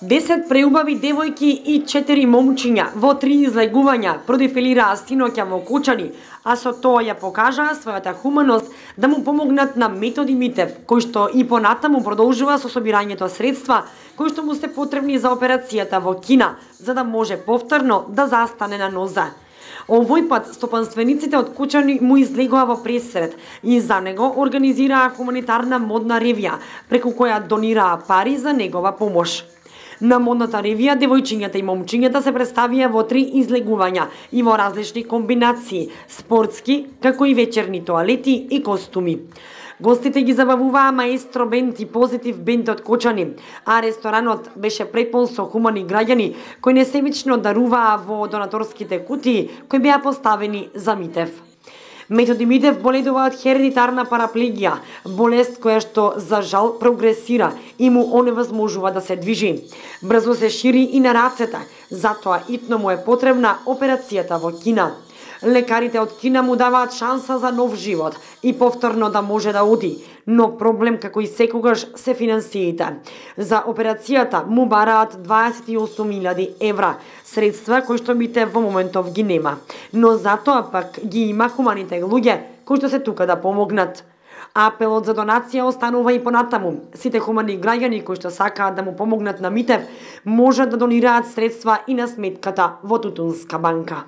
10 преубави девојки и 4 момчиња во 3 излегувања продефилираа синоќа во Кучани, а со тоа ја покажаа својата хуманост да му помогнат на Методи Митев, кој што и понатаму продолжува со собирањето средства кои што му се потребни за операцијата во Кина, за да може повторно да застане на ноза. Овој пат стопанствениците од Кучани му излегоа во пресред и за него организираа хуманитарна модна ревија, преку која донираа пари за негова помош. На модната ревија девојчињата и момчињата се представија во 3 излегувања и во различни комбинации, спортски, како и вечерни тоалети и костуми. Гостите ги забавуваа Маестро бенд и Позитив бенд од Кочани, а ресторанот беше препон со хумани граѓани кои несебично даруваа во донаторските кутии кои беа поставени за Митев. Методи Митев боледува од хередитарна параплегија, болест која што за жал прогресира и му оневозможува да се движи. Брзо се шири и на рацете, затоа итно му е потребна операцијата во Кина. Лекарите од Кина му даваат шанса за нов живот и повторно да може да оди, но проблем како и секогаш се финансиите. За операцијата му бараат 28.000 евра, средства кои што Митев во моментов ги нема, но затоа пак ги има хуманите луѓе кои што се тука да помогнат. Апелот за донација останува и понатаму. Сите хумани граѓани кои што сакаат да му помогнат на Митев можат да донираат средства и на сметката во Тутунска банка.